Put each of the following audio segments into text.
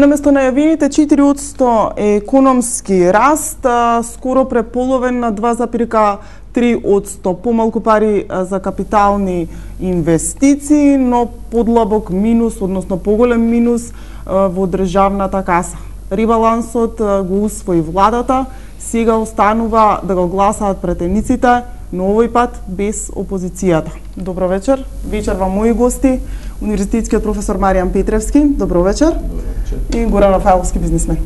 Наместо најавените 4% економски раст, скоро преполовен на 2,3%, помалку пари за капитални инвестиции, но подлабок минус, односно поголем минус во државната каса. Ребалансот го усвои владата, сега останува да го гласаат претениците, но овој пат без опозицијата. Добро вечер. Вечер вам мои гости, универзитетскиот професор Маријан Петревски. Добро вечер. Добро вечер. И Горан Рафаеловски, бизнисмен.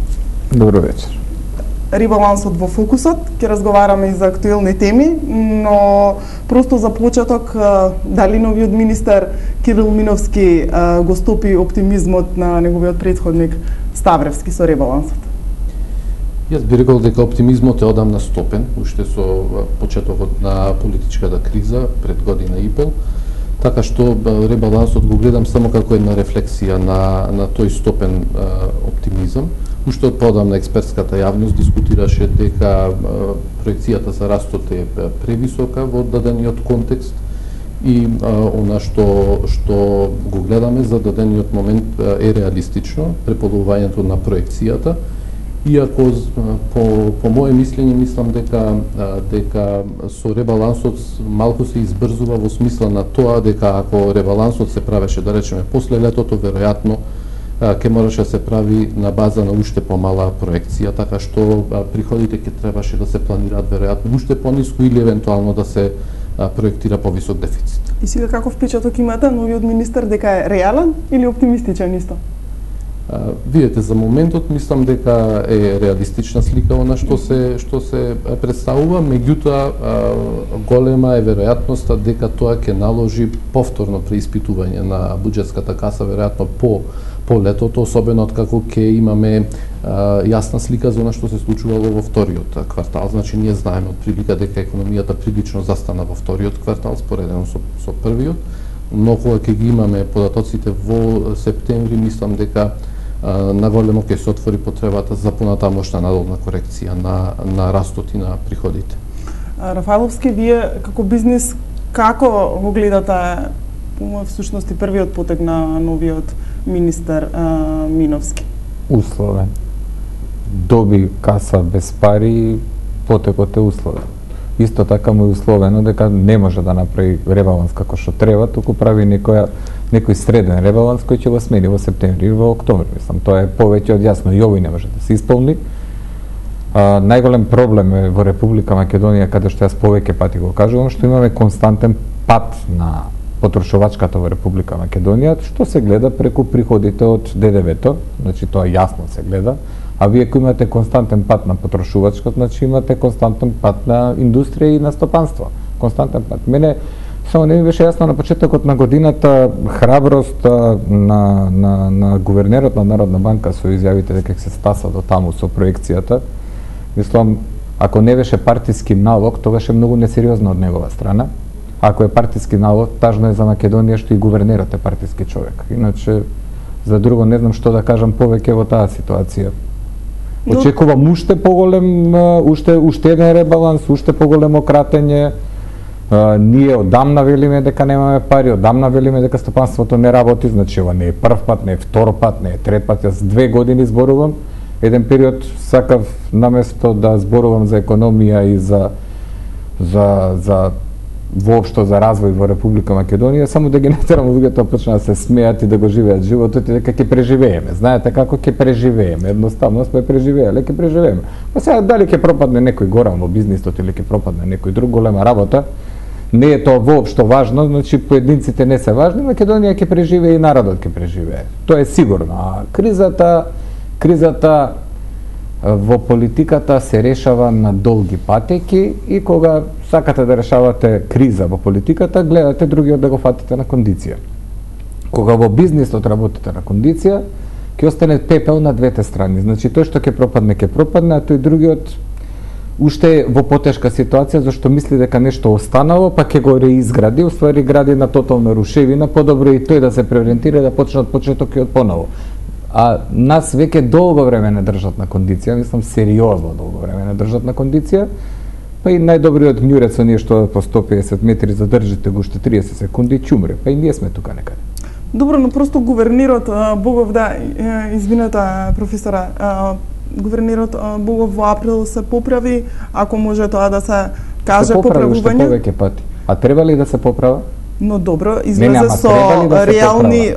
Добро вечер. Ребалансот во фокусот, ќе разговараме и за актуелни теми, но просто за почеток, дали новиот министер Кирил Миновски го стопи оптимизмот на неговиот претходник Ставревски со ребалансот? Јас би рекол дека оптимизмот е одамна стопен, уште со почетокот на политичката криза пред година и пол, така што ребалансот го гледам само како една рефлексија на тој стопен оптимизам. Уште од подамна експертската јавност дискутираше дека проекцијата за растот е превисока во дадениот контекст и она што го гледаме за дадениот момент е реалистично, преполувањето на проекцијата. Иако по моje мислење мислам дека со ребалансот малку се избрзува во смисла на тоа дека ако ребалансот се правеше, да речеме, после летото, веројатно ќе мораше да се прави на база на уште помала проекција, така што приходите ќе требаше да се планираат веројатно уште пониску или евентуално да се проектира повисок дефицит. И сега каков впечаток имате новиот министер, дека е реален или оптимистичен исто? Видете, за моментот мислам дека е реалистична слика она што се представува, меѓутоа голема е веројатноста дека тоа ќе наложи повторно преиспитување на буџетската каса веројатно по летото, особено откако ќе имаме јасна слика за она што се случувало во вториот квартал. Значи ние знаеме од прилика дека економијата прилично застана во вториот квартал споредено со првиот, но кога ќе ги имаме податоците во септември, мислам дека наголемо ќе се отвори потребата за понатамошна надолна корекција на растот и на приходите. Рафаеловски, вие како бизнис како го гледате всушност и првиот потег на новиот министер Миновски? Условен. Доби каса без пари, потекот е условен. Исто така му е условено дека не може да направи ребаланс како што треба, туку прави некој среден ребаланс кој ќе го смени во септември или во октомври. Мислам, тоа е повеќе од јасно и овој не може да се исполни. Најголем проблем е во Република Македонија, каде што јас повеќе пати го кажувам, што имаме константен пат на потрошувачката во Република Македонија, што се гледа преку приходите од ДДВ-то, значи тоа јасно се гледа. А вие ако имате константен пат на потрошувачка, значи имате константен пат на индустрија и на стопанство. Константен пат. Мене само не ми беше јасно на почетокот на годината храброст на гувернерот на Народна банка со изјавите дека ќе се стаса до таму со проекцијата. Мислам, ако не беше партиски налог, тогаш е многу несериозно од негова страна. Ако е партиски налог, тажно е за Македонија што и гувернерот е партиски човек. Иначе, за друго не знам што да кажам повеќе во таа ситуација. Очекувам уште поголем, уште еден ребаланс, уште поголемо кратење. Ние одамна велиме дека немаме пари, одамна велиме дека стопанството не работи, значи ова не е прв пат, не е втор пат, не е трет пат, јас 2 години зборувам. Еден период сакав наместо да зборувам за економија и за воопшто за развој во Република Македонија, само да ги натерам луѓето почнаа да се смеат и да го живеат животот и дека ќе преживееме. Знаете како ќе преживееме? Едноставно сме преживееле, ќе преживееме. Па сега дали ќе пропадне некој горан во бизнисот или ќе пропадне некој друг, голема работа, не е тоа воопшто важно, значи поединците не се важни, Македонија ќе преживее и народот ќе преживее. Тоа е сигурно. А кризата во политиката се решава на долги патеки и кога сакате да решавате криза во политиката, гледате другиот да го фатите на кондиција. Кога во бизнисот работите на кондиција, ќе остане пепел на двете страни. Значи тој што ќе пропадне, а тој другиот уште е во потешка ситуација зашто мисли дека нешто останало, па ќе го реизгради, уствари гради на тотална рушевина, подобро и тој да се преориентира да почне од почеток и од поново. А нас веќе долго време не држат на кондиција, мислам сериозно долго време не држат на кондиција, па и најдобриот њурец со ние што по 150 метри задржите го уште 30 секунди, чумре, па и ние сме тука некаде. Добро, но просто гувернерот Богов, да, извинете професора, гувернерот Богов во април се поправи, ако може тоа да се каже поправување. Се поправи уште повеќе пати. А треба ли да се поправа? Но добро, излезе со реални,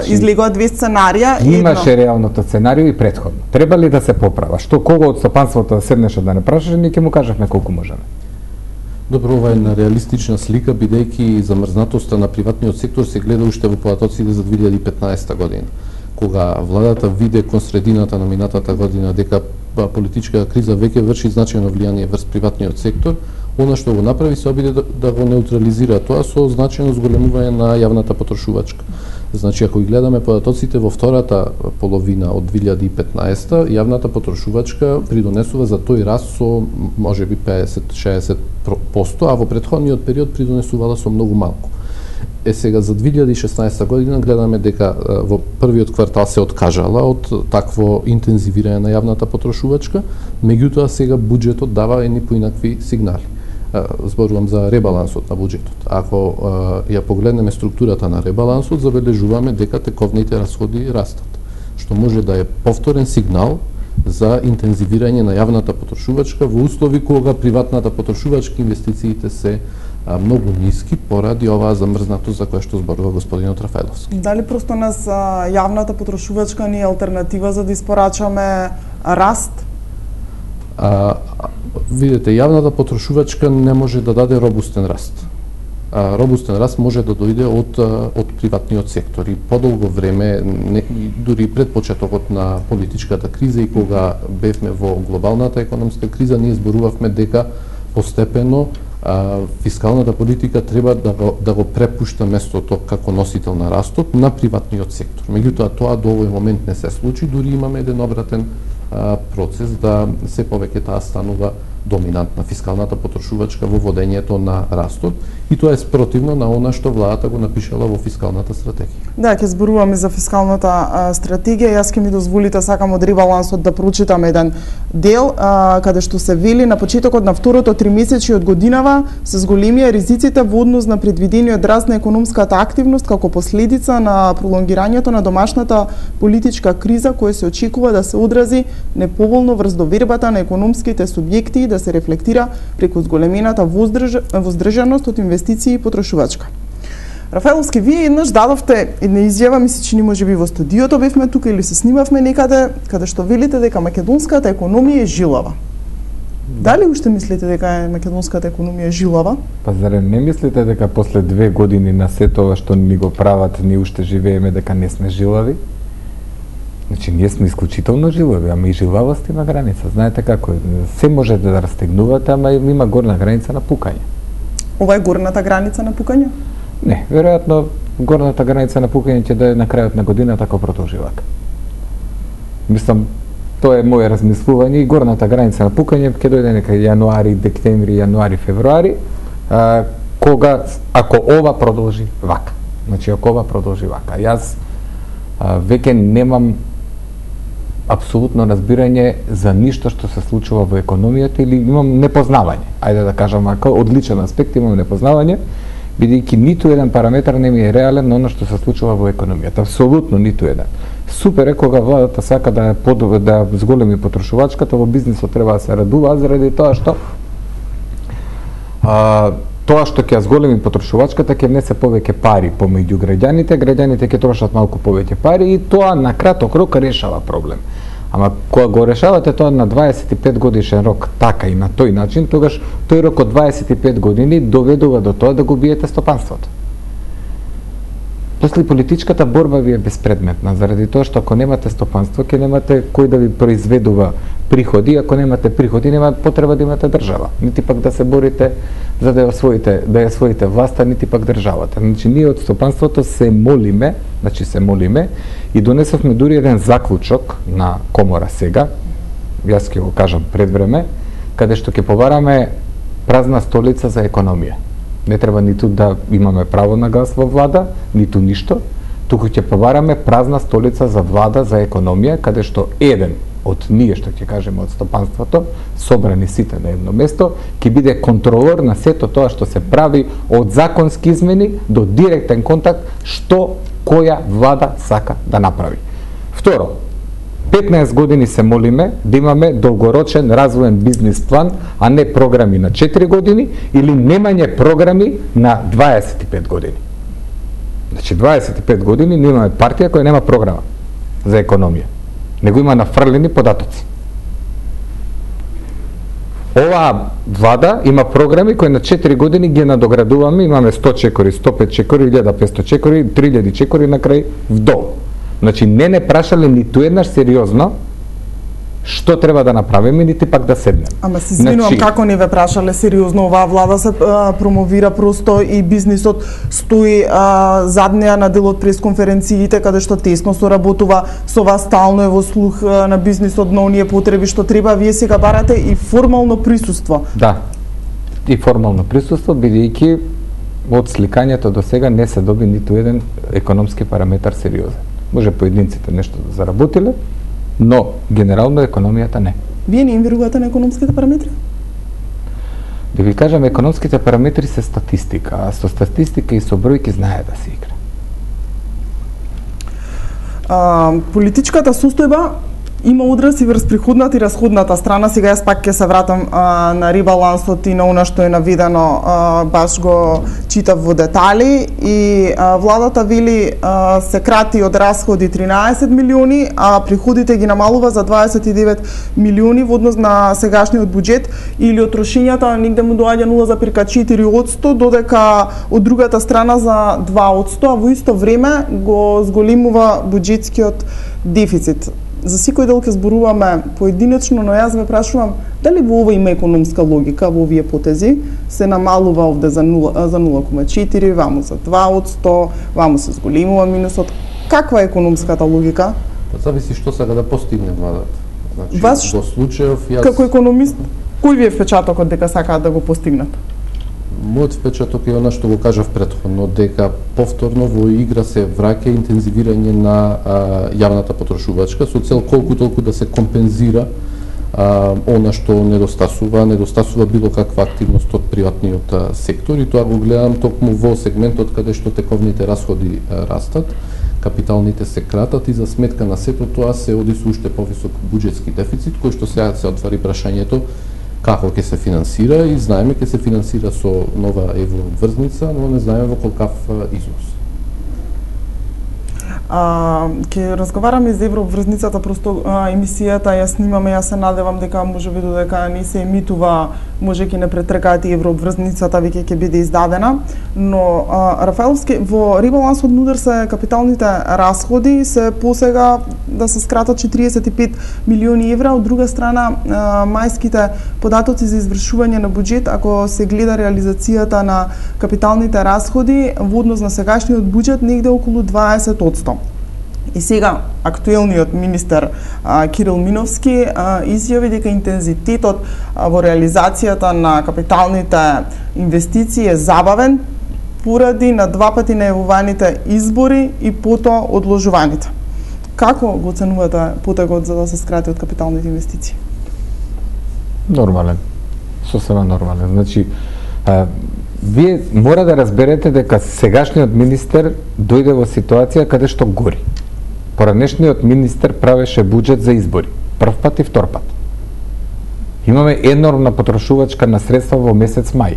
излегоа две сценарија. Имаше реалното сценарио и претходно. Треба ли да се поправа? Што кого од стопанството да седнеше да не прашаше, ние ќе му кажавме колку можеме. Добро, ова е една реалистична слика, бидејќи замрзнатоста на приватниот сектор се гледа уште во податоците за 2015 година. Кога владата виде кон средината на минатата година дека политичка криза веќе врши значајно влијание врз приватниот сектор, она што го направи се обиде да го неутрализира тоа со значајно зголемување на јавната потрошувачка. Значи, ако ги гледаме податоците во втората половина од 2015, јавната потрошувачка придонесува за тој раст со можеби 50-60%, а во претходниот период придонесувала со многу малку. Сега за 2016 година гледаме дека во првиот квартал се откажала од такво интензивирање на јавната потрошувачка, меѓутоа сега буџетот дава едни поинакви сигнали. Зборувам за ребалансот на буџетот. Ако ја погледнеме структурата на ребалансот, забележуваме дека тековните расходи растат, што може да е повторен сигнал за интензивирање на јавната потрошувачка во услови кога приватната потрошувачка инвестициите се многу ниски поради оваа замрзнатост за која што зборува господинот Рафаеловски. Дали просто нас јавната потрошувачка не е алтернатива за да испорачаме раст? Видете, јавната потрошувачка не може да даде робустен раст. Робустен раст може да дојде од приватниот сектор и подолго време, дури пред почетокот на политичката криза и кога бевме во глобалната економска криза, ние зборувавме дека постепено фискалната политика треба да го препушта местото како носител на растот на приватниот сектор. Меѓутоа тоа до овој момент не се случи, дури имаме еден обратен процес да се повеќе таа станува доминантна фискалната потрошувачка во водењето на растот и тоа е спротивно на она што владата го напишала во фискалната стратегија. Да, ќе зборуваме за фискалната стратегија. Јас ќе ми дозволите сакам од ребалансот да прочитам еден дел каде што се вели на почетокот на второто тримесечие од годинава се зголемија ризиците во однос на предвидениот раст на економската активност како последица на пролонгирањето на домашната политичка криза која се очекува да се одрази неповолно врз довербата на економските субјекти и да се рефлектира преку зголемената воздржаност од инвестиции и потрошувачка. Рафаеловски, вие еднаш дадовте една изјава, мисли че ни можеби во студиото бевме тука или се снимавме некаде, каде што велите дека македонската економија е жилава. Дали уште мислите дека македонската економија е жилава? Па зарем не мислите дека после 2 години на сето ова што ни го прават, ние уште живееме дека не сме жилави? Значи, ние сме исклучително жилави, ама и жилавост има граница. Знаете како е, се можете да растегнувате, ама има горна граница на пукање. Ова е горната граница на пукање? Не, веројатно горната граница на пукање ќе да е на крајот на годината како продолживак. Мислам, тоа е моје размислување и горната граница на пукање ќе дојде нека јануари, декември, јануари, февруари, кога, ако ова продолжи вака. Значи, ако ова продолжи вака. Јас веќе немам апсолутно разбирање за ништо што се случува во економијата или имам непознавање. Ајде да кажам, ако од личен аспект имам непознавање, бидејќи ниту еден параметар не ми е реален на оно што се случува во економијата. Апсолутно ниту еден. Супер е кога владата сака да да зголеми потрошувачката, во бизнисот треба да се радува заради тоа што тоа што ќе зголеми потрошувачката ќе внесе повеќе пари помеѓу граѓаните, граѓаните ќе трошат малку повеќе пари и тоа на краток рок решава проблем. Ама кога го решавате тоа на 25 годишен рок така и на тој начин, тогаш тој рок од 25 години доведува до тоа да го биете стопанството. После политичката борба ви е безпредметна, заради тоа што ако немате стопанство, ќе немате кој да ви произведува приходи, ако немате приходи, нема потреба да имате држава. Нити пак да се борите за да ја освоите власта, нити пак државата. Значи, ние од стопанството се молиме и донесовме дури еден заклучок на комора сега, јас ќе го кажам пред време, каде што ќе побараме празна столица за економија. Не треба ниту да имаме право на глас во влада, ниту ништо, туку ќе побараме празна столица за влада за економија, каде што еден од ние, што ќе кажеме од стопанството, собрани сите на едно место, ќе биде контролор на сето тоа што се прави од законски измени до директен контакт, што која влада сака да направи. Второ, 15 години се молиме да имаме долгорочен развоен бизнис план, а не програми на 4 години или немање програми на 25 години. Значи 25 години ние имаме партија која нема програма за економија, него има нафрлени податоци. Оваа влада има програми кои на 4 години ги надоградуваме, имаме 100 чекори, 105 чекори, 1500 чекори, 3000 чекори на крај вдолу. Значи не прашале ниту еднаш сериозно што треба да направиме, нити пак да седнеме. Ама се извинувам, како не ве прашале сериозно, оваа влада се промовира просто и бизнисот стои зад неа на дел од пресконференциите каде што тесно соработува со вас, стално е во слух на бизнисот на оние потреби што треба, вие сега барате и формално присуство. Да. И формално присуство, бидејќи од сликањето до сега не се доби ниту еден економски параметар сериозен. Може поединците нешто да заработиле, но генерално економијата не. Вие не им верувате на економските параметри? Да ви кажам, економските параметри се статистика, а со статистика и со бројки знае да се игра. Политичката состојба има одраз и врз приходната и расходната страна. Сега јас пак ќе се вратам на ребалансот и на она што е наведено, баш го читав во детали, и владата вели се крати од расходи 13 милиони, а приходите ги намалува за 29 милиони во однос на сегашниот буџет, или од трошењата негде му доаѓа 0,4%, додека од другата страна за 2%, а во исто време го зголемува буџетскиот дефицит. За секој дел ќе зборуваме поединечно, но јас ве прашувам дали во ова има економска логика, во овие потези се намалува овде за 0,4, ваму за 2%, ваму се зголемува минусот. Каква е економската логика? Зависи што сака да постигне владата. Значи, Вас, во случајов јас како економист, кој ви е впечатокот дека сакаат да го постигнат? Мојот впечаток е она што го кажав претходно, дека повторно во игра се враќа интензивирање на јавната потрошувачка со цел колку толку да се компензира она што недостасува било каква активност од приватниот сектор, и тоа го гледам токму во сегментот каде што тековните расходи растат, капиталните се кратат и за сметка на сето тоа се оди со уште повисок буџетски дефицит, кој што сега се отвари прашањето како ќе се финансира, и знаеме ќе се финансира со нова еврообврзница, но не знаеме во колкав износ. Ќе разговараме за еврообврзницата, просто емисијата ја снимаме, јас се надевам дека можеби додека не се емитува, може ќе не претркаат и еврообврзницата веќе ќе биде издадена, но Рафаеловски, во ребалансот на удар се капиталните расходи се посега да се скратат 45 милиони евра, од друга страна мајските податоци за извршување на буџет, ако се гледа реализацијата на капиталните расходи во однос на сегашниот буџет, негде околу 20%. И сега актуелниот министер Кирил Миновски изјави дека интензитетот во реализацијата на капиталните инвестиции е забавен поради на два пати најавуваните избори и потоа одложуваните. Како го оценувате потегот за да се скрати од капиталните инвестиции? Нормален. Сосема нормален. Значи, вие мора да разберете дека сегашниот министер дојде во ситуација каде што гори. Поранешниот министер правеше буџет за избори. Прв пат и втор пат. Имаме енормна потрошувачка на средства во месец мај,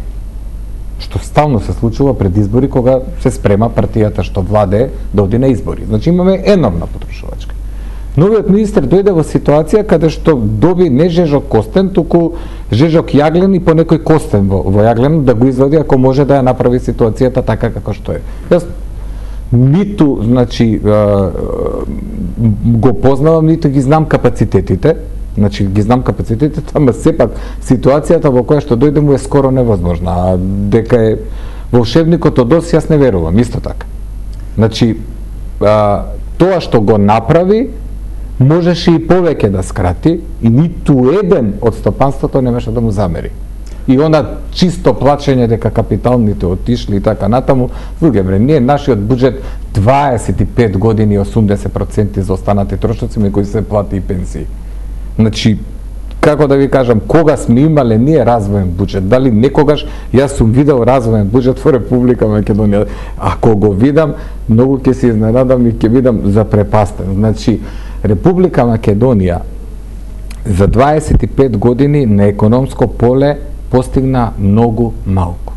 што стално се случува пред избори кога се спрема партијата што владее да оди на избори. Значи имаме енормна потрошувачка. Новиот министер дојде во ситуација каде што доби не жежок костен, туку жежок јаглен и по некој костен во јаглен да го извади ако може да ја направи ситуацијата така како што е. Јас ниту, значи, го познавам, ниту ги знам капацитетите, значи ги знам капацитетите, ама сепак ситуацијата во која што дојде му е скоро невозможна, а дека е волшебникот од Оз, јас не верувам, исто така. Значи, тоа што го направи, можеше и повеќе да скрати, и ниту еден од стопанството немаше да му замери. И она чисто плачење дека капиталните отишли и така натаму, луѓе бре, ние нашиот буџет 25 години 80% за останати трошоци, кои се плати и пенсии. Значи, како да ви кажам, кога сме имале ние развоен буџет? Дали некогаш јас сум видел развоен буџет во Република Македонија? Ако го видам, многу ќе се изненадам и ќе видам запрепастен. Значи, Република Македонија за 25 години на економско поле постигна многу малку.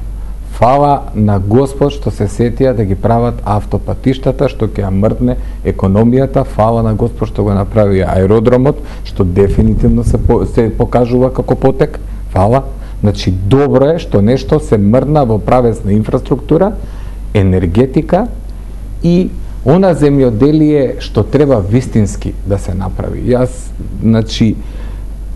Фала на Господ што се сетија да ги прават автопатиштата, што ќе ја мртне економијата, фала на Господ што го направи аеродромот, што дефинитивно се покажува како потек, фала. Значи, добро е што нешто се мрдна во правесна инфраструктура, енергетика и она земјоделие што треба вистински да се направи. Значи,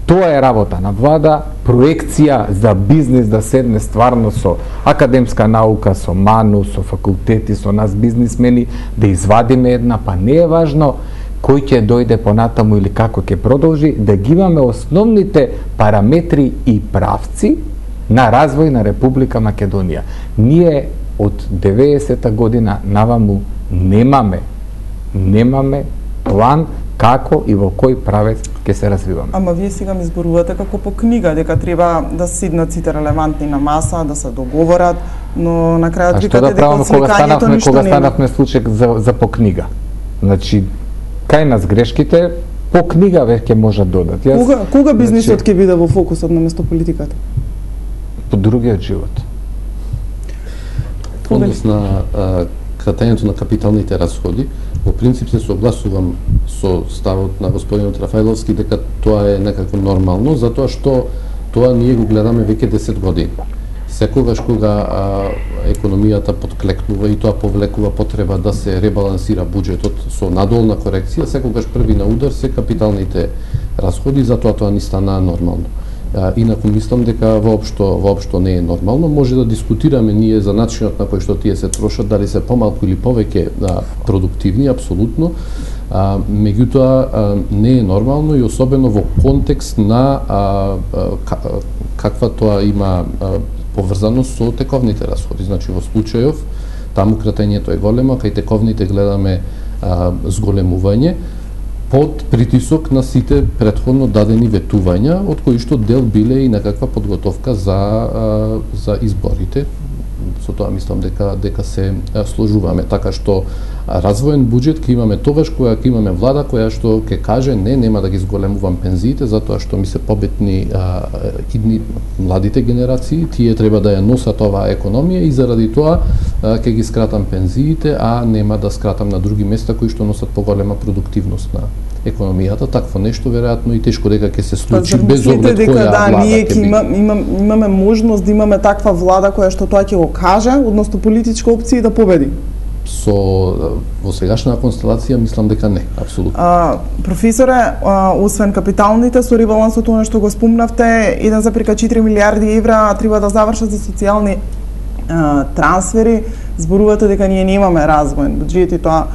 тоа е работа на влада, проекција за бизнис да седне стварно со академска наука, со МАНУ, со факултети, со нас бизнисмени, да извадиме една, па не е важно кој ќе дојде понатаму или како ќе продолжи, да ги имаме основните параметри и правци на развој на Република Македонија. Ние од 90-та година наваму немаме план како и во кој правец ќе се развиваме. Ама вие сега ми зборувате како по книга, дека треба да седнат сите релевантни на маса, да се договорат, но на крајот викате дека од сликањето ништо нема. Кога станавме случај за по книга? Значи, кај нас грешките по книга веќе можат додат. Кога бизнисот ќе биде во фокусот на место политиката? По другиот живот. Однос на кратењето на капиталните расходи, во принцип се согласувам со ставот на господинот Рафаиловски дека тоа е некако нормално, затоа што тоа ние го гледаме веќе 10 години. Секогаш кога економијата подклекнува и тоа повлекува потреба да се ребалансира буџетот со надолна корекција, секогаш први на удар се капиталните расходи, затоа тоа ни стана нормално. Инаку мислам дека воопшто не е нормално. Може да дискутираме ние за начинот на кој што тие се трошат, дали се помалку или повеќе продуктивни, апсолутно. Меѓутоа не е нормално и особено во контекст на каква тоа има поврзаност со тековните расходи. Значи во случајов таму кратењето е големо, кај тековните гледаме зголемување под притисок на сите претходно дадени ветувања, од кои што дел биле и некаква подготовка за изборите. Со тоа мислам дека се сложуваме, така што развоен буџет ќе имаме тогаш кога ќе имаме влада која што ќе каже нема да ги зголемувам пензиите затоа што ми се побитни младите генерации, тие треба да ја носат оваа економија и заради тоа ќе ги скратам пензиите, а нема да скратам на други места кои што носат поголема продуктивност на економијата. Такво нешто веројатно и тешко дека ќе се случи без оглед која влада ќе биде. Имаме можност да имаме таква влада која што тоа ќе го каже, односно политичка опција да победи. Во сегашна констелација мислам дека не, апсолутно. Професоре, освен капиталните, со ребалансот она што го спомнавте, 1,4 милиарди евра треба да завршат за социјални трансфери. Зборувате дека ние немаме развоен буџет и тоа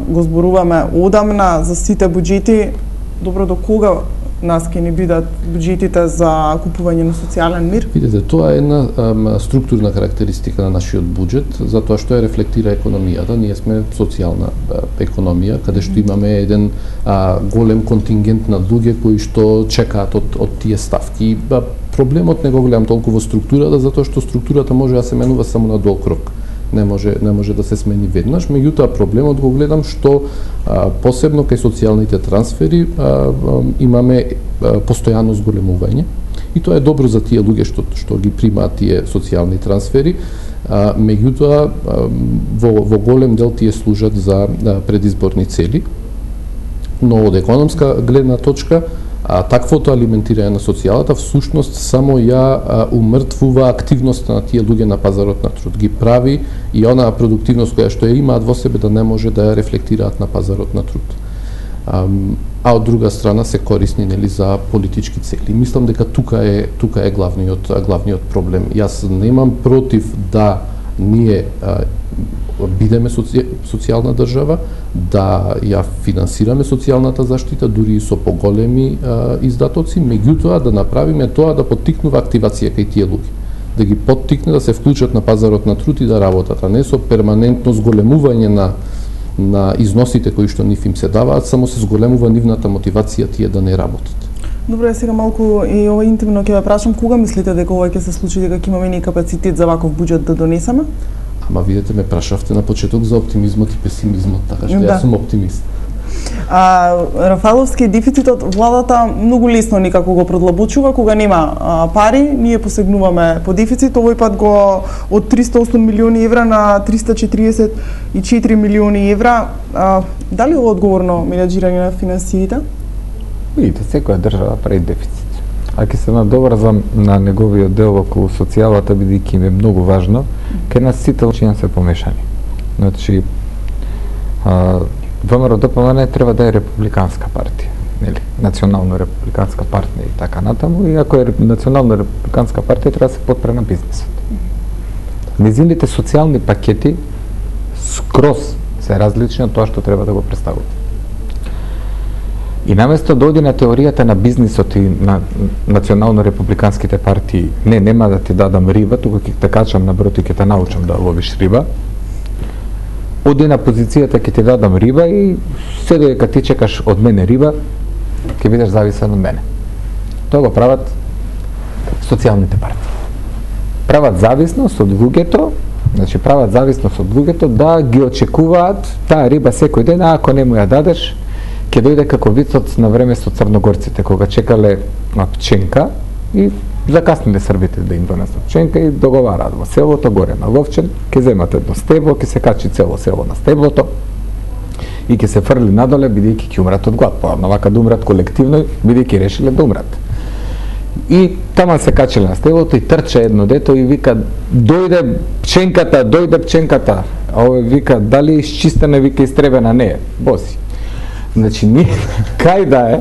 го зборуваме одамна за сите буџети. Добро, до кога нас ќе ни бидат буџетите за купување на социјален мир? Видете, тоа е една структурна карактеристика на нашиот буџет, затоа што ја рефлектира економијата. Ние сме социјална економија, каде што имаме еден голем контингент на луѓе кои што чекаат од тие ставки. Проблемот не го гледам толку во структурата, затоа што структурата може да се менува само на долг рок. Не може да се смени веднаш, меѓутоа проблемот го гледам што посебно кај социјалните трансфери имаме постојано зголемување и тоа е добро за тие луѓе што ги примаат тие социјални трансфери, меѓутоа во голем дел тие служат за предизборни цели, но од економска гледна точка таквото алиментирање на социјалата всушност само ја умртвува активноста на тие луѓе на пазарот на труд, ги прави и онаа продуктивност која што ја имаат во себе да не може да ја рефлектираат на пазарот на труд. А од друга страна се корисни за политички цели. Мислам дека тука е главниот проблем. Јас немам против да ние бидеме социјална држава, да ја финансираме социјалната заштита, дури и со поголеми издатоци, меѓутоа да направиме тоа да поттикнува активација кај тие луѓе, да ги поттикне да се вклучат на пазарот на труд и да работат, а не со перманентно зголемување на износите кои што нив им се даваат, само се зголемува нивната мотивација тие да не работат. Добре, сега малку и ова интимно ќе ве прашам, кога мислите дека ова ќе се случи, дека ќе имаме ни капацитет за ваков буџет да донесеме? Ама видете, ме прашавте на почеток за оптимизмот и песимизмот, така што јас сум оптимист. Рафаеловски дефицитот владата многу лесно никако го продлабочува кога нема пари, ние посегнуваме по дефицит, овој пат го од 308 милиони евра на 344 милиони евра. Дали е одговорно менеджирање на финансиите? Видите, секоја држава прави дефицит. А ќе се надоврзам на неговиот дел околу социјалата, бидејќи им е многу важно, кај нас сите учиња се помешани. Значи, ВМРО-ДПМН треба да е републиканска партија, нели? Национално-републиканска партија и така натаму, и ако е национално-републиканска партија, треба да се подпре на бизнисот. Незините социјални пакети скроз се различни од тоа што треба да го представува. И наместо да оди на теоријата на бизнисот и на национално-републиканските партии, нема да ти дадам риба, тука ќе те качам на брод и ќе те научам да ловиш риба, оди на позицијата ќе ти дадам риба и се додека ти чекаш од мене риба, ќе бидеш зависен од мене. Тоа го прават социјалните партии. Прават зависност од луѓето, значи прават зависност од луѓето да ги очекуваат таа риба секој ден, а ако не му ја дадеш, ќе дојде како вицот на време со црногорците, кога чекале на пченка и закасниле србите да им донесат пченка и договараат во селото горе на Ловчен, ќе земат едно стебло, ќе се качи цело село на стеблото и ќе се фрли надоле, бидејќи ќе умрат од глад, навака да умрат колективно, бидејќи решиле да умрат. И тама се качиле на стеблото и трча едно дето и вика дојде пченката, а овој вика дали изчистена, вика истребена, не е, боси. Значи, ние, кај да е,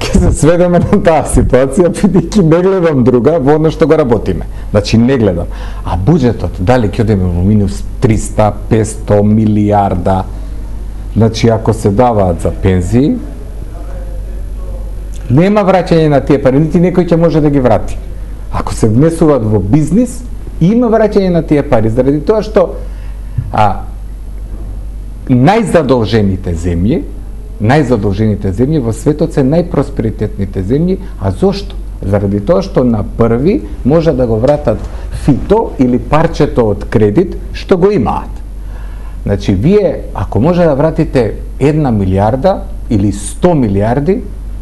ќе се сведеме на таа ситуација, бидејќи не гледам друга, во оно што го работиме. Значи, не гледам. А буџетот, дали ќе одиме во минус 300, 500 милиарда, значи, ако се даваат за пензии, нема враќање на тие пари, нити некој ќе може да ги врати. Ако се внесуваат во бизнис, има враќање на тие пари, заради тоа што најзадолжените земји во светот се најпросперитетните земји, а зошто? Заради тоа што на први може да го вратат фито или парчето од кредит што го имаат. Значи, вие, ако може да вратите 1 милиарда или 100 милиарди,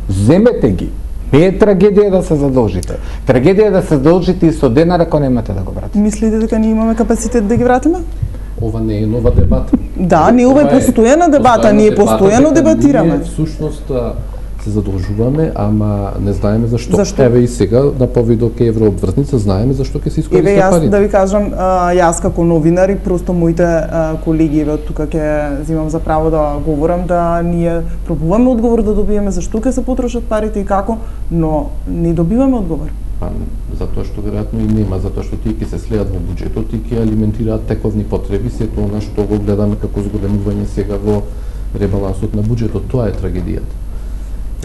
земете ги. Не е трагедија да се задолжите. Трагедија е да се задолжите и со денар ако немате да го вратите. Мислите дека ние имаме капацитет да ги вратиме? Ова не е нова дебата. Да, не ова е постојана дебата, ние постојано дебатираме. Ние всушност се задолжуваме, ама не знаеме зашто. Еве и сега на повидок еврообвртница знаеме зашто ќе се искористат парите. Еве јас да ви кажам, јас како новинар и просто моите колеги еве тука ќе земам за право да говорам да ние пробуваме одговор да добиеме зашто ќе се потрошат парите и како, но не добиваме одговор. Затоа што веројатно и нема, затоа што тие ќе се слеат во буџетот и ќе алиментираат тековни потреби, сето она што го гледаме како зголемување сега во ребалансот на буџетот, тоа е трагедијата.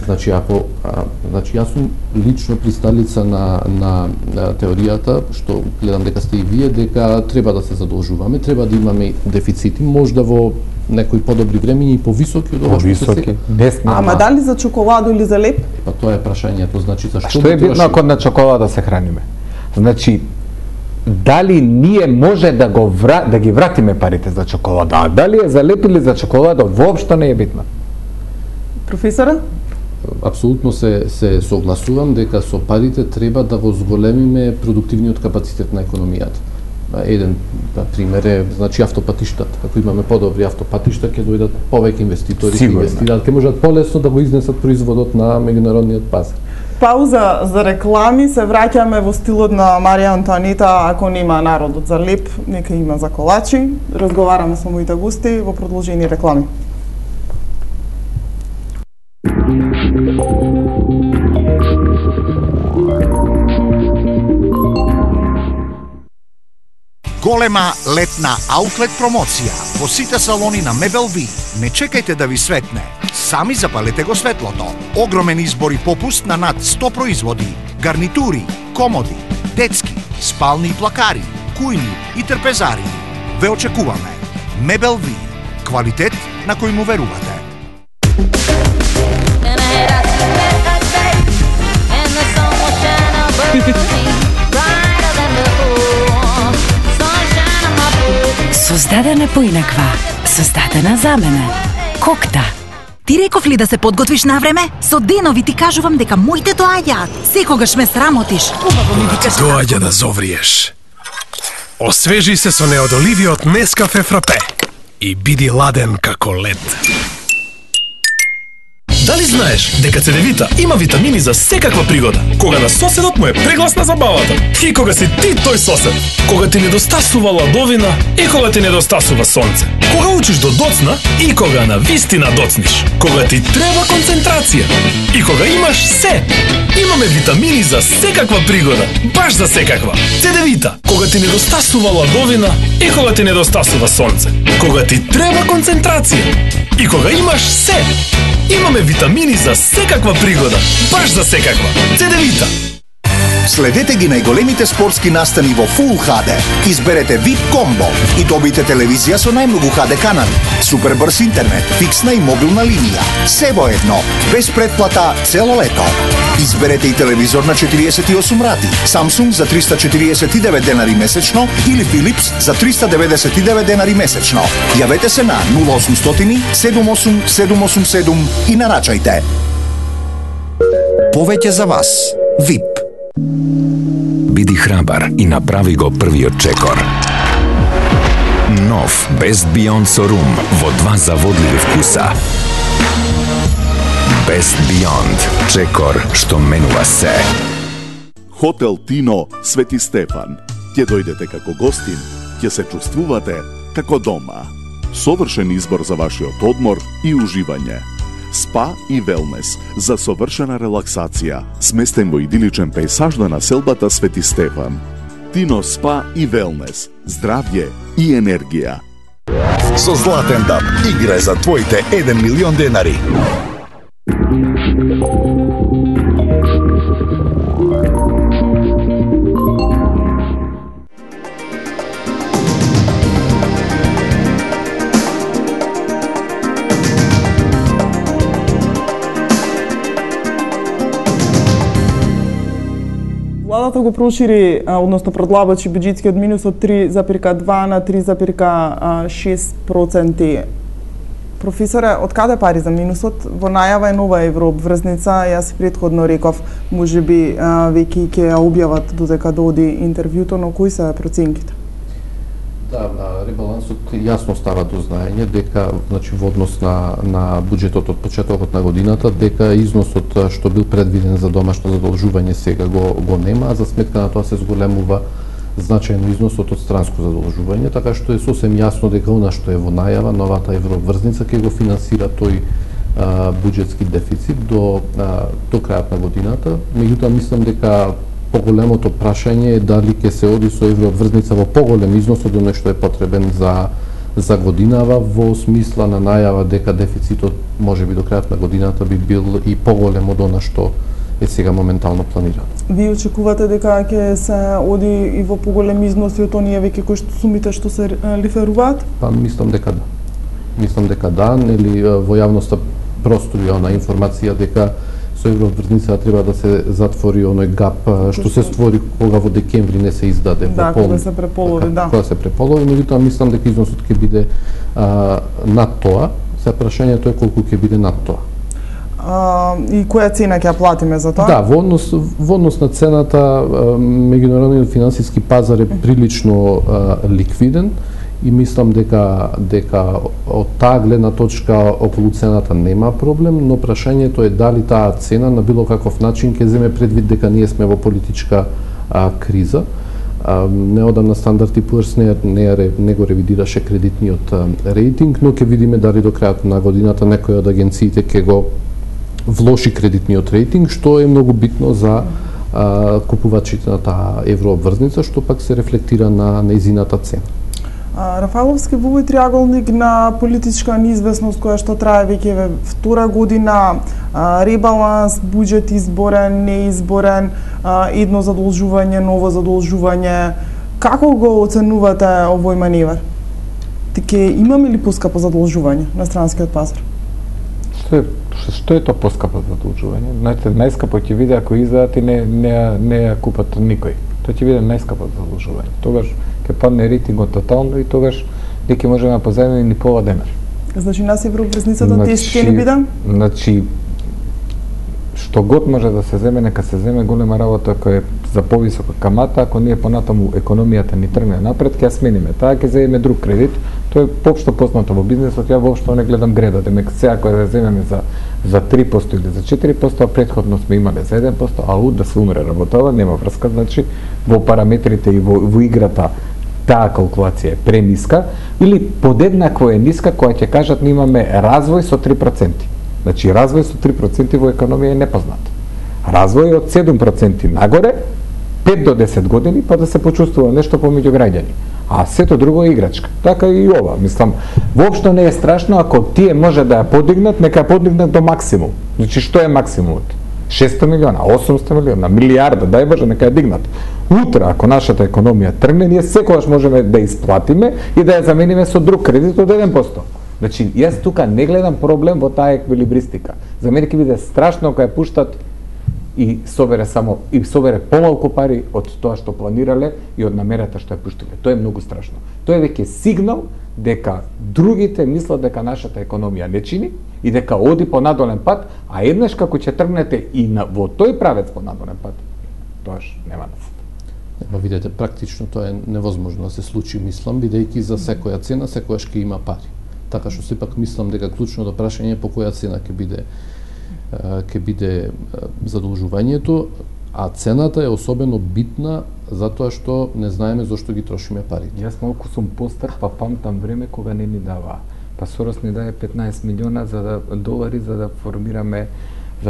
Значи, значи јас сум лично присталица на теоријата, што гледам дека сте и вие, дека треба да се задолжуваме, треба да имаме дефицити, можда во некои подобри времења и повисоки од ова што се сега. Ама дали за чоколаду или за леп? Па тоа е прашањето, значи зашто? Што е битно ако на чоколада се храниме? Значи, дали ние може да ги вратиме парите за чоколада, а дали е за леп или за чоколада, воопшто не е битно. Професора? Апсолутно се согласувам дека со парите треба да го зголемиме продуктивниот капацитет на економијата. Еден пример е, значи, автопатиштата. Ако имаме подобри автопатишта, ќе дојдат повеќе инвеститори, ќе инвестираат, ќе можат полесно да го изнесат производот на меѓународниот пазар. Пауза за реклами, се враќаме во стилот на Марија Антоанета, ако нема народот за леп, нека има за колачи. Разговараме со моите гости во продолжени реклами. Голема летна аутлет промоција во сите салони на Мебел-Ви. Не чекајте да ви светне. Сами запалете го светлото. Огромен избор и попуст на над 100 производи. Гарнитури, комоди, детски, спални и плакари, кујни и трпезари. Ве очекуваме. Мебел-Ви. Квалитет на кој му верувате. Создадена поинаква. Создадена за мене. Кокта. Ти реков ли да се подготвиш на време? Со денови ти кажувам дека моите доаѓаат. Секогаш ме срамотиш. Убаво ми викаш. Доаѓа да зовриеш. Освежи се со неодоливиот Нескафе Фрапе и биди ладен како лед. Дали знаеш дека цедевита има витамини за секаква пригода? Кога на соседот му е прегласна забавата и кога си ти тој сосед, кога ти недостасува ладовина и кога ти недостасува сонце, кога учиш до доцна и кога на вистина доцниш, кога ти треба концентрација и кога имаш се. Имаме витамини за секаква пригода, баш за секаква. Цедевита, кога ти недостасува ладовина и кога ти недостасува сонце, кога ти треба концентрација и кога имаш се. Имаме витамини за секаква пригода, баш за секаква. Цедевита. Следете ги најголемите спортски настани во Full HD. Изберете VIP комбо и добите телевизија со најмногу HD канали, супер брз интернет, фиксна и мобилна линија. Се во едно, без претплата цело лето. Изберете и телевизор на 48 рати, Samsung за 349 денари месечно или Philips за 399 денари месечно. Јавете се на 0800 78 787 и нарачајте. Повеќе за вас. VIP. Биди храбар и направи го првиот чекор. Нов Best Beyond со рум во 2 заводливи вкуса. Best Beyond, чекор што менува се. Хотел Тино Свети Стефан. Ќе дојдете како гостин, ќе се чувствувате како дома. Совршен избор за вашиот одмор и уживање. Спа и велнес за совршена релаксација, сместен во идиличен пејсаж на населбата Свети Стефан. Тино Спа и велнес, здравје и енергија. Со Златен дат играј за твоите 1 милион денари. Владата го прошири, односно продлабочи бюџетскиот минус од 3,2 на 3,6%. Професоре, од каде пари за минусот? Во најава е нова еврообврзница, јас претходно реков, можеби веќе ќе ја објават додека доди интервјуто, но кои се проценките? Да, ребалансот јасно става до знаење дека, значи, во однос на буџетот од почетокот на годината, дека износот што бил предвиден за домашно задолжување сега го нема, а за сметка на тоа се зголемува значајно износот од странско задолжување, така што е сосем јасно дека она што е во најава, новата еврообврзница ќе го финансира тој буџетски дефицит до крајот на годината. Меѓутоа мислам дека поголемото прашање е дали ќе се оди со еврообврзница во поголем износ од оној што е потребен за годинава, во смисла на најава дека дефицитот можеби до крајот на годината би бил и поголем од она што е сега моментално планирано. Ви очекувате дека ќе се оди и во поголем износ и од оние веќе кои што сумите што се реферуваат? Па мислам дека да. Мислам дека да, нели во јавноста простори она информација дека со еврообврзница треба да се затвори оној гап што се створи кога во декември не се издаде во полн. Кога се преполови, да. Кога се преполови, меѓутоа мислам дека износот ќе биде над тоа. Се прашањето е колку ќе биде над тоа. И која цена ќе ја платиме за тоа? Да, во однос на цената, меѓународниот финансиски пазар е прилично ликвиден и мислам дека од таа гледна точка околу цената нема проблем, но прашањето е дали таа цена на било каков начин ќе земе предвид дека ние сме во политичка криза. Неодамна Standard & Poor's не го ревидираше кредитниот рейтинг, но ќе видиме дали до крајот на годината некоја од агенциите ќе го влоши кредитниот рейтинг, што е многу битно за купувачите на таа еврообврзница, што пак се рефлектира на нејзината цена. Рафаловски во овој триаголник на политичка неизвестност која што трае веќе втора година, ребаланс, буџет изборен, неизборен, едно задолжување, ново задолжување, како го оценувате овој маневар? Ќе имаме ли поскапо задолжување на странскиот пазар? Што е тоа поскапо задолжување? Знаете, најскапо ќе биде ако издадат и не ја купат никој. Тоа ќе биде најскапо задолжување. Тогаш ќе падне рейтингот тотално и тогаш дека можеме да позајмиме ни пола денар. Значи нас евроврзницата тест ќе ни биде? Значи што год може да се земе, нека се земе. Голема работа која е за повисока камата, ако ние понатаму економијата ни тргне напред, ќе ја смениме. Таа ќе земеме друг кредит. Тоа е општо познато во бизнисот, ја воопшто не гледам греда, демек сега кога да земеме за 3% или за 4%, а претходно сме имале за 1%, ау да се умре работава, нема врска, значи во параметрите и во играта таа калкулација е премиска, или подеднакво е ниска која ќе кажат ние имаме развој со 3%. Значи развој со 3% во економија е непознат. Развој од 7% нагоре, 5 до 10 години, па да се почувствува нешто помеѓу граѓани. А сето друго е играчка. Така и ова. Мислам, воопшто не е страшно ако тие може да ја подигнат, нека ја подигнат до максимум. Значи што е максимумот? 600 милиона, 800 милиона, милиарда, дај Боже, нека ја дигнат. Утре, ако нашата економија тргне, ние секогаш можеме да исплатиме и да ја замениме со друг кредит од 1%. Значи, јас тука не гледам проблем во таа еквилибристика. За мене ќе биде страшно кога ја пуштат и собере помалку пари од тоа што планирале и од намерата што ја пуштиле. Тоа е многу страшно. Тоа е веќе сигнал дека другите мислат дека нашата економија не чини и дека оди по надолен пат, а еднаш како ќе тргнете и во тој правец по надолен пат, тоаш нема насет. Ма видете, практично тоа е невозможно да се случи, мислам, бидејќи за секоја цена секојаш ќе има пари. Така што сепак мислам дека клучното прашање е по која цена ќе биде задолжувањето, а цената е особено битна затоа што не знаеме зошто ги трошиме парите. Јас малку сум постар, па памтам време кога не ни дава. Па Сорос ни даде 15 милиона долари за да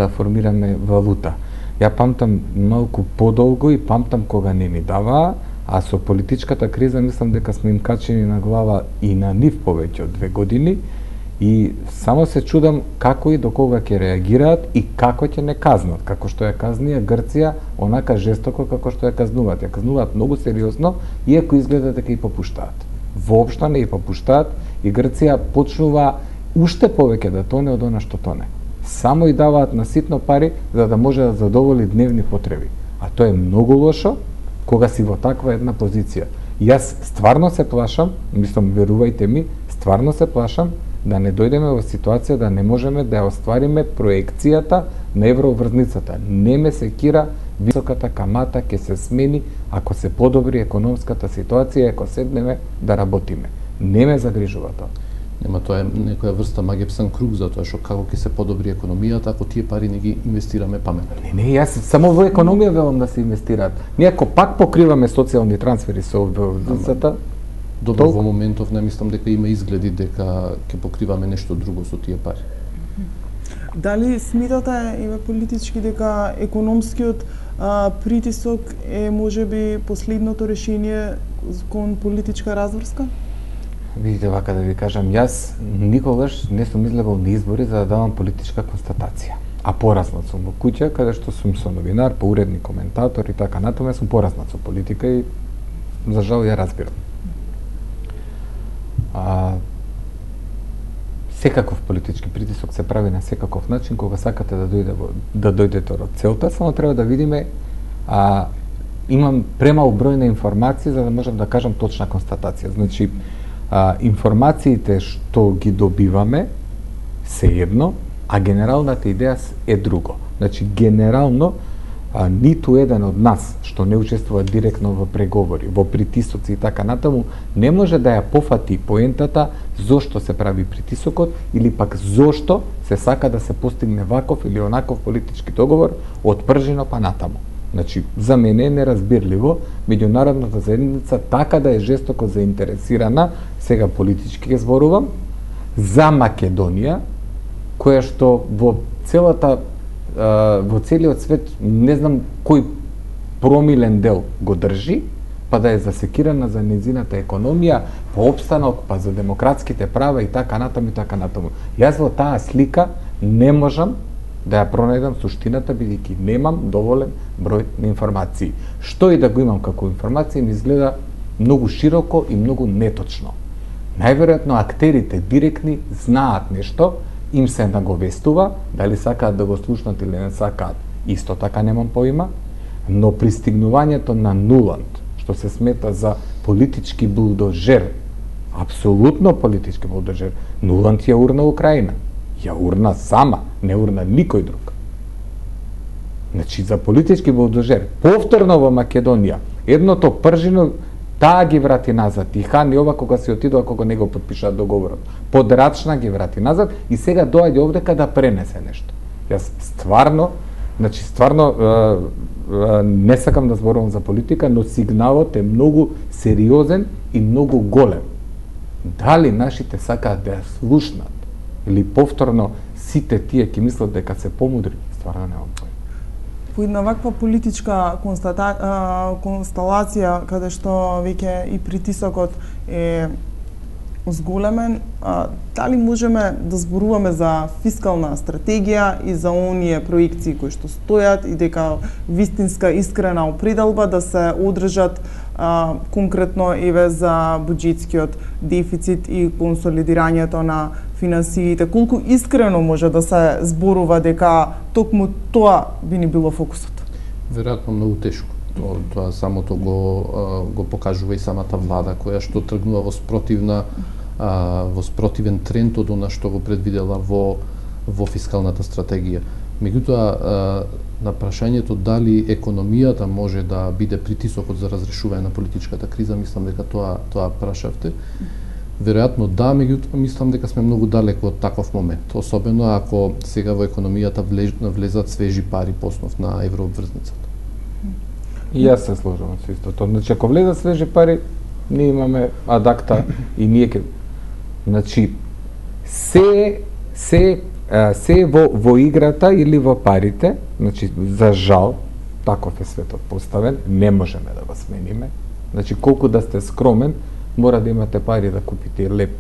формираме валута. Ја памтам малку подолго и памтам кога не ни дава, а со политичката криза мислам дека сме им качени на глава и на нив повеќе од 2 години. И само се чудам како и до кога ќе реагираат и како ќе не казнат, како што ја казнија Грција, онака жестоко како што ја казнуваат. Ја казнуваат многу сериозно, иако изгледа дека и попуштаат. Воопшто не и попуштаат и Грција почнува уште повеќе да тоне од она што тоне. Само и даваат на ситно пари за да може да задоволи дневни потреби. А тоа е многу лошо кога си во таква една позиција. Јас стварно се плашам, мислам, верувајте ми, стварно се плашам да не дојдеме во ситуација да не можеме да ја оствариме проекцијата на евроврзницата. Не ме секира високата камата ќе се смени ако се подобри економската ситуација, ако седнеме да работиме. Не ме загрижува тоа. Нема, тоа е некоја врста магепсан круг, затоа што како ќе се подобри економијата ако тие пари не ги инвестираме паметно. Не, јас само во економија велам да се инвестираат. Ние ако пак покриваме социјални трансфери со евроврзницата, добро, во моментов не мислам дека има изгледи дека ќе покриваме нешто друго со тие пари. Дали смитате, еве политички, дека економскиот притисок е можеби последното решение кон политичка разврска? Видите, вака да ви кажам, јас никогаш не сум излегол на избори за да давам политичка констатација. А поразнат сум во куќа, каде што сум со новинар, поуредник, коментатор и така натаму, сум поразнат со политика и за жал ја разбирам. Секаков политички притисок се прави на секаков начин кога сакате да дојдете до целта, само треба да видиме. Имам премал број на информации за да можам да кажам точна констатација. Значи, информациите што ги добиваме се едно, а генералната идеја е друго. Значи, генерално ниту еден од нас што не учествува директно во преговори, во притисоци и така натаму, не може да ја пофати поентата зошто се прави притисокот или пак зошто се сака да се постигне ваков или онаков политички договор од пржино па натаму. Значи, за мене е неразбирливо меѓународната заедница така да е жестоко заинтересирана, сега политички ќе зборувам, за Македонија, која што во целиот свет не знам кој промилен дел го држи, па да е засекирана за незината економија, па опстанок, па за демократските права и така натаму и така натаму. Јас во таа слика не можам да ја пронајдам суштината, бидејќи немам доволен број на информации. Што и да го имам како информација ми изгледа многу широко и многу неточно. Најверојатно актерите директни знаат нешто, им се наговестува, дали сакаат да го слушнат или не сакаат, исто така немам поима, но пристигнувањето на Нуланд, што се смета за политички булдожер, Апсолутно политички болдожер. Нуланд ја урна Украина. Ја урна сама, не урна никој друг. Значи, за политички болдожер, повторно во Македонија, едното пржино, таа ги врати назад. И Хан и ова кога се отидоа, кога не го подпишаа договорот. Подрачна ги врати назад и сега доаѓа овдека да пренесе нешто. Јас стварно не сакам да зборувам за политика, но сигналот е многу сериозен и многу голем. Дали нашите сакаат да ја слушнат или повторно сите тие ќе мислат дека се помудри, стварно немам појма. По една ваква политичка констелација, каде што веќе и притисокот е зголемен, дали можеме да зборуваме за фискална стратегија и за оние проекции кои што стојат и дека вистинска искрена определба да се одржат конкретно еве за буџетскиот дефицит и консолидирањето на финансиите, колку искрено може да се зборува дека токму тоа би ни било фокусот? Веројатно многу тешко. Тоа самото го покажува и самата влада која што тргнува во спротивен тренд од она што го предвидела во фискалната стратегија. Меѓутоа, на прашањето дали економијата може да биде притисокот за разрешување на политичката криза, мислам дека тоа прашавте. Веројатно да, меѓутоа мислам дека сме многу далеко од таков момент, особено ако сега во економијата влезат свежи пари по основ на еврообврзницата. И јас се сложувам со истото. Значи, ако влезат свежи пари, ние имаме адакта и ние ќе... Значи, се во играта или во парите, значи, за жал, таков е светот поставен, не можеме да го смениме. Значи, колку да сте скромен, мора да имате пари да купите леп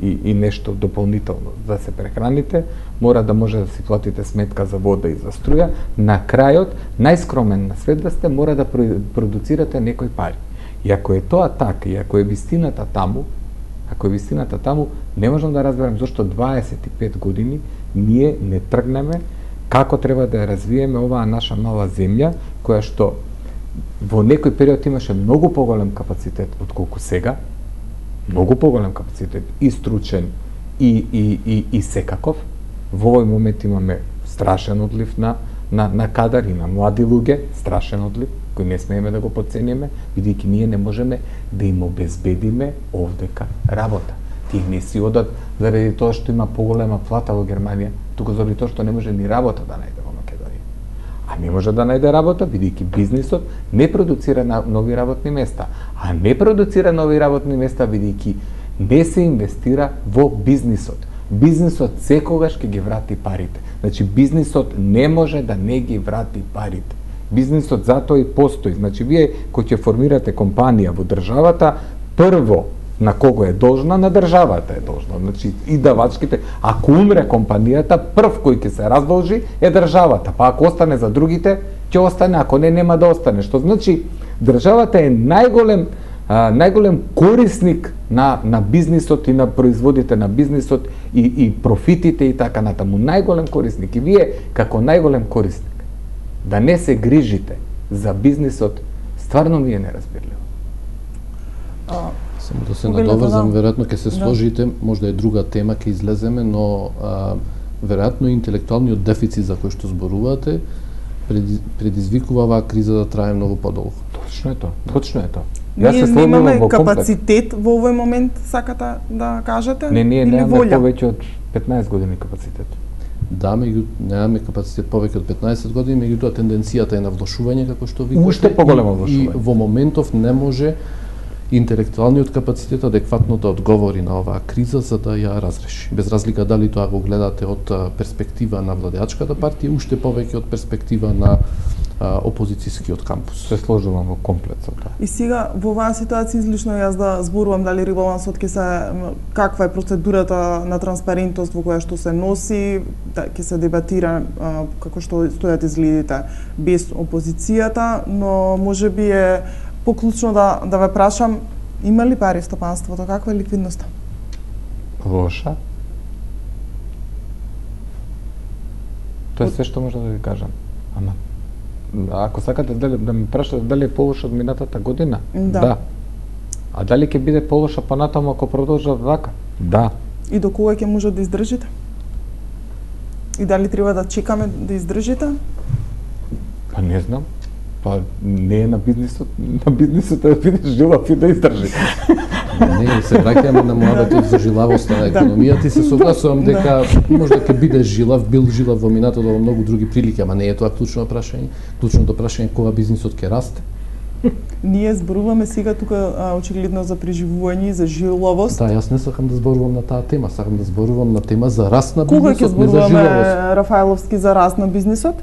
и нешто дополнително да се прехраните, мора да може да си платите сметка за вода и за струја. На крајот, најскромен на свет да сте, мора да продуцирате некои пари. И ако е тоа така, и ако е вистината таму, не можам да разберам зашто 25 години ние не тргнеме како треба да ја развиеме оваа наша мала земја, која што во некој период имаше многу поголем капацитет отколку сега, многу поголем капацитет и стручен и секаков. Во овој момент имаме страшен одлив на кадар и на млади луѓе, страшен одлив, кој не смееме да го потцениме, бидејќи ние не можеме да им обезбедиме овдека работа. Тие не си одат заради тоа што има поголема плата во Германија, туку заради тоа што не може ни работа да најде во Македонија. А не може да најде работа, бидејќи бизнисот не продуцира нови работни места. А не продуцира нови работни места, бидејќи не се инвестира во бизнисот. Бизнисот секогаш ќе ги врати парите. Значи, бизнисот не може да не ги врати парите. Бизнисот затоа и постои. Значи, вие кој ќе формирате компанија во државата, прво на кого е должна? На државата е должна. Значи, и давачките, ако умре компанијата, прв кој ќе се раздолжи е државата. Па ако остане за другите, ќе остане, ако не, нема да остане. Што значи, државата е најголем корисник на бизнисот и на производите на бизнисот и профитите и така натаму. Најголем корисник. И вие, како најголем корисник, да не се грижите за бизнисот, стварно ми е неразбирливо. Само да се надоврзам, веројатно ќе се сложите, можда е друга тема, ќе излеземе, но веројатно интелектуалниот дефицит за кој што зборувате предизвикува оваа криза да трае многу подолго. Точно е тоа. Ние немаме капацитет во овој момент, сакате да кажете? Не, ние немаме повеќе од 15 години капацитет. Да, немаме капацитет повеќе од 15 години, меѓутоа тенденцијата е на влошување, како што викате. Уште поголемо влошување. И во моментов не може интелектуалниот капацитет адекватно да одговори на оваа криза за да ја разреши. Без разлика дали тоа го гледате од перспектива на владеачката партија, уште повеќе од перспектива на опозицијскиот кампус. Се сложувам во комплет со тоа. И сега во оваа ситуација излишно јас да зборувам дали ребалансот каква е процедурата на транспарентност во која што се носи, ќе се дебатира како што стојат изгледите без опозицијата, но можеби е поклучно да ве прашам, има ли пари стопанството, каква е ликвидноста? Лоша. Тоа е све што може да ви кажам. Ама ако сакате да ме прашате дали е полоша од минатата година, да. А дали ќе биде полоша понатаму ако продолжат вака? Да. И до кога ќе може да издржите? И дали треба да чекаме да издржите? Па не знам. Па не е на бизнисот да биде жилав и да издржи. Не, се враќаме на муабетот за жилавоста на економијата и се согласувам дека можда ќе биде бил жилав во минатото во многу други прилики, ама не е тоа клучно прашање. Клучното прашање е кога бизнисот ќе расте. Ние зборуваме сега тука очигледно за преживување и за жилавост. Да, јас не сакам да зборувам на таа тема, сакам да зборувам на тема за раст на кога бизнисот, не за жилавост. Кога ќе зборуваме, Рафаеловски, за раст на бизнисот?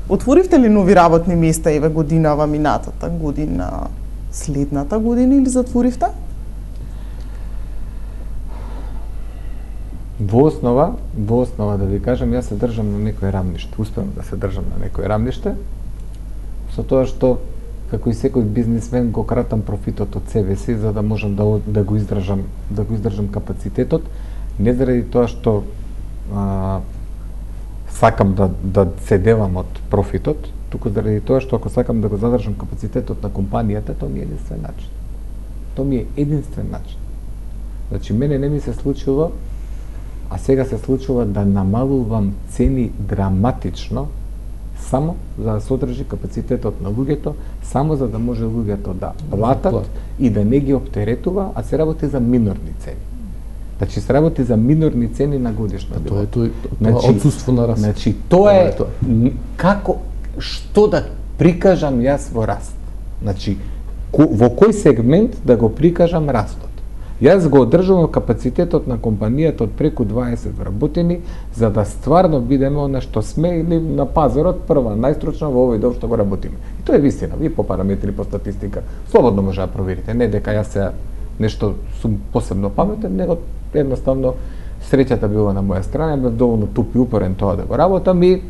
Отворивте ли нови работни места еве годинава минатата година, следната година или затворивте? Во основа да ви кажам, јас се држам на некој рамниште. Успевам да се држам на некој рамниште. Со тоа што како и секој бизнисмен го кратам профитот од себе си за да можам да го издржам капацитетот, не заради тоа што сакам да се делам од профитот, туку заради тоа што ако сакам да го задржам капацитетот на компанијата, тоа ми е единствен начин. Тоа ми е единствен начин. Значи, мене не ми се случува, а сега се случува да намалувам цени драматично, само за да се одржи капацитетот на луѓето, само за да може луѓето да платат и да не ги оптеретува, а се работи за минорни цени. Значи се работи за минорни цени на годишна била. Тоа е отсуство на раст. Значи тоа е како што да прикажам јас во раст. Значи во кој сегмент да го прикажам растот. Јас го одржувам капацитетот на компанијата од преку 20 вработени за да стварно бидеме она што сме или на пазарот прва најстручна во овој дел што го работиме. И тоа е вистина, ви по параметри, по статистика, слободно може да проверите, не дека јас се нешто сум посебно паметен, него едноставно среќата била на моја страна, бев доволно туп и упорен тоа да го работам и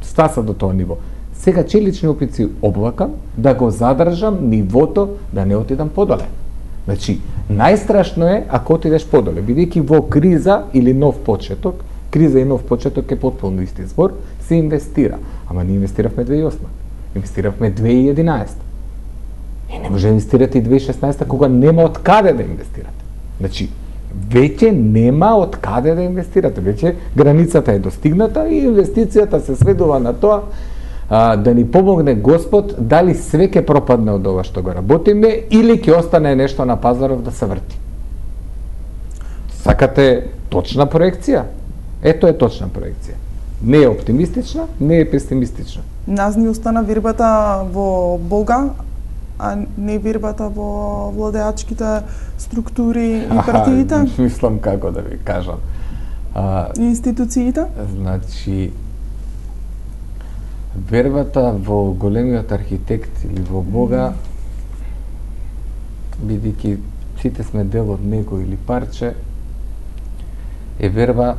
стаса до тоа ниво. Сега челични опици облакам да го задржам нивото да не отидам подоле. Значи, најстрашно е ако отидеш подоле, бидејќи во криза или нов почеток, криза и нов почеток е потполно исти збор, се инвестира. Ама ние инвестиравме 2008, инвестиравме 2011. И не може да инвестирате и 2016 кога нема од каде да инвестирате. Значи, веќе нема од каде да инвестирате, веќе границата е достигната и инвестицијата се сведува на тоа да ни помогне Господ дали све ќе пропадне од ова што го работиме или ќе остане нешто на пазаров да се врти. Сакате точна проекција? Ето е точна проекција. Не е оптимистична, не е песимистична. Нас ни остана вербата во Бога, а не вербата во владеачките структури и партиите? Мислам како да ви кажам. Институциите? Значи, вербата во големиот архитект или во Бога, бидејќи сите сме дел од него или парче, е верба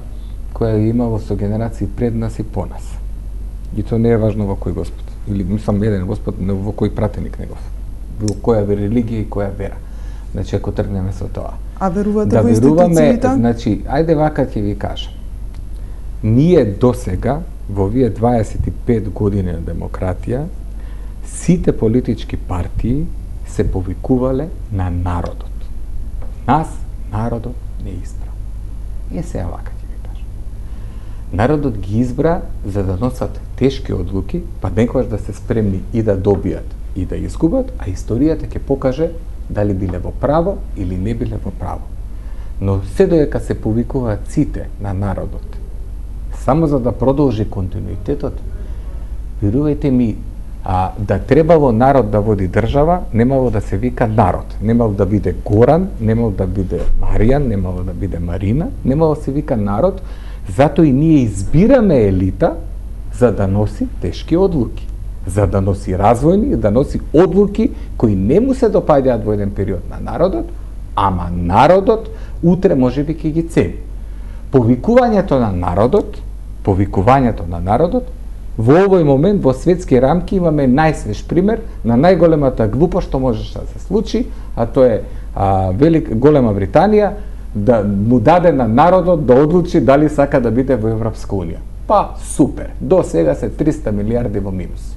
која ја имало со генерации пред нас и по нас. И тоа не е важно во кој Господ. Или мислам еден Господ, но во кој пратеник негов. Во која религија и која вера. Значи, ако тргнеме со тоа. А верувате да во институциите? Значи, ајде вака ќе ви кажам. Ние досега, во овие 25 години на демократија, сите политички партии се повикувале на народот. Нас народот не избра. И сега вака ќе ви кажам. Народот ги избра за да носат тешки одлуки, па некогаш да се спремни и да добијат и да изгубат, а историјата ќе покаже дали биле во право или не биле во право. Но се додека се повикуваат сите на народот, само за да продолжи континуитетот, верувајте ми, да требало народ да води држава, немало да се вика народ. Немало да биде Горан, немало да биде Маријан, немало да биде Марина, немало да се вика народ, затоа и ние избираме елита за да носи тешки одлуки, за да носи развојни, да носи одлуки кои не му се допаѓаат во еден период на народот, ама народот утре можеби ќе ги цени. Повикувањето на народот, во овој момент во светски рамки имаме најсвеж пример на најголемата глупост што можеше да се случи, а тоа е Голема Британија да му даде на народот да одлучи дали сака да биде во Европска унија. Па супер, до сега се 300 милиарди во минус.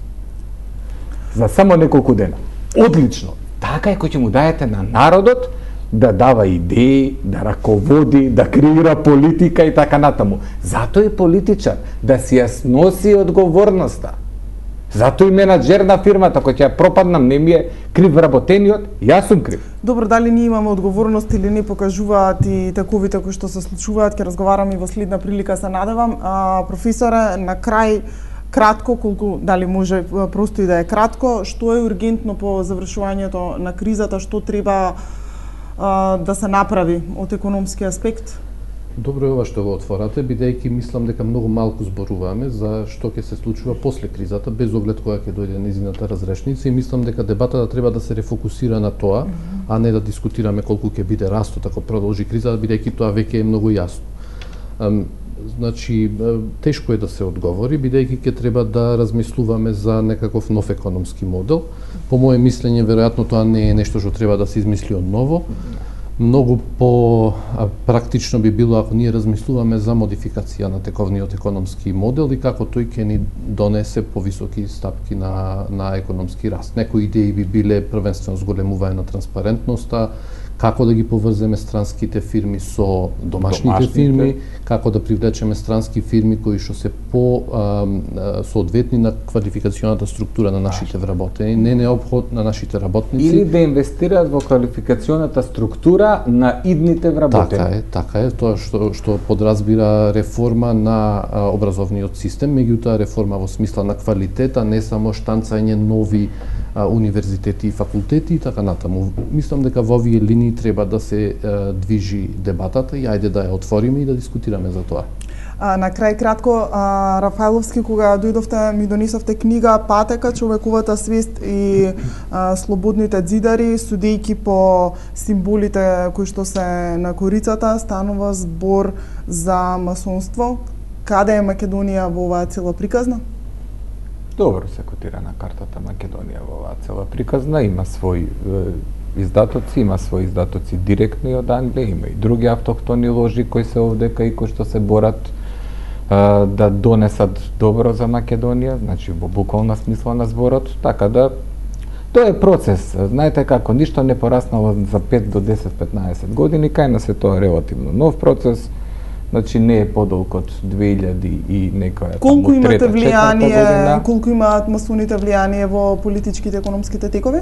За само неколку дена. Одлично. така е кој ќе му дајете на народот да дава идеи, да раководи, да креира политика и така натаму. Затоа е политичар, да си ја носи одговорноста. Затоа и менаџер на фирмата, кој ќе ја пропаднам, не ми е крив вработениот, јас сум крив. Добро, дали ние имаме одговорност или не покажуваат и таковите кои што се случуваат, ќе разговараме и во следна прилика, се надевам. Професоре, на крај, кратко, колку, дали може просто и да е кратко, што е ургентно по завршувањето на кризата, што треба да се направи од економски аспект? Добро е ова што го отворате, бидејќи мислам дека многу малку зборуваме за што ќе се случува после кризата, без оглед која ќе дојде нејзината разрешница, и мислам дека дебатата треба да се рефокусира на тоа, а не да дискутираме колку ќе биде растот ако продолжи кризата, бидејќи тоа веќе е многу јасно. Значи, тешко е да се одговори, бидејќи ќе треба да размислуваме за некаков нов економски модел. По моје мислење, веројатно тоа не е нешто што треба да се измисли од ново. Многу по практично би било ако ние размислуваме за модификација на тековниот економски модел и како тој ќе ни донесе повисоки стапки на економски раст. Некои идеи би биле првенствено зголемување на транспарентноста, како да ги поврземе странските фирми со домашните фирми, како да привлечеме странски фирми кои што се по соодветни на квалификационата структура на нашите вработени, не неопход на нашите работници. Или да инвестираат во квалификационата структура на идните вработени. Така е, тоа што подразбира реформа на образовниот систем, меѓутоа реформа во смисла на квалитет, а не само штанцање нови универзитети и факултети и така натаму. Мислам дека во овие линии треба да се движи дебатата и ајде да ја отвориме и да дискутираме за тоа. На крај кратко, Рафаеловски, кога дојдовте, ми донесовте книга Патека, човековата свест и слободните ѕидари, судејќи по символите кои што се на корицата, станува збор за масонство. Каде е Македонија во оваа цела приказна? Добро се котира на картата Македонија во оваа цела приказна, има свои издатоци, има свои издатоци директно од Англија, има и други автохтони ложи кои се овдека и кои што се борат да донесат добро за Македонија, значи во буквална смисла на зборот, така да тоа е процес. Знаете како, ништо не пораснало за 5 до 10-15 години, кај нас е тоа релативно нов процес. Значи не е подолг од 2000 и некоја колку имате влијание, колку имаат масоните влијание во политичките економските текови?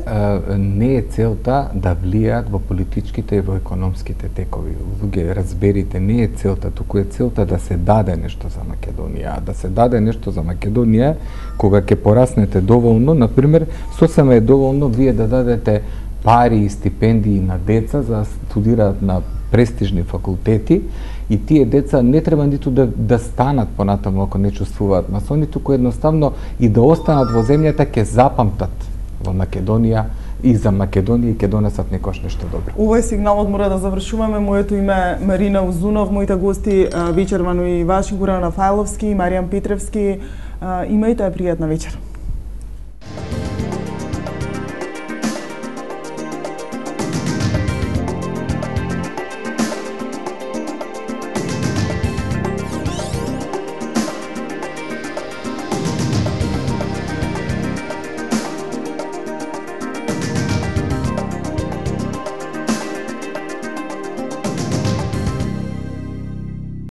Не е целта да влијаат во политичките и во економските текови. Луѓе, разберите, не е целта, туку е целта да се даде нешто за Македонија. Да се даде нешто за Македонија кога ќе пораснете доволно, например, сосема е доволно вие да дадете пари и стипендии на деца за да студираат на престижни факултети, и тие деца не треба ниту да станат понатаму ако не чувствуваат масони, туку едноставно и да останат во земјата ќе запамтат во Македонија и за Македонија и ќе донесат некош нешто добро. Овој сигналот мора да завршуваме. Моето име е Марина Узунов, моите гости вечервано и Ваши Горан Рафаеловски и Маријан Петревски. Имајте пријатна вечер.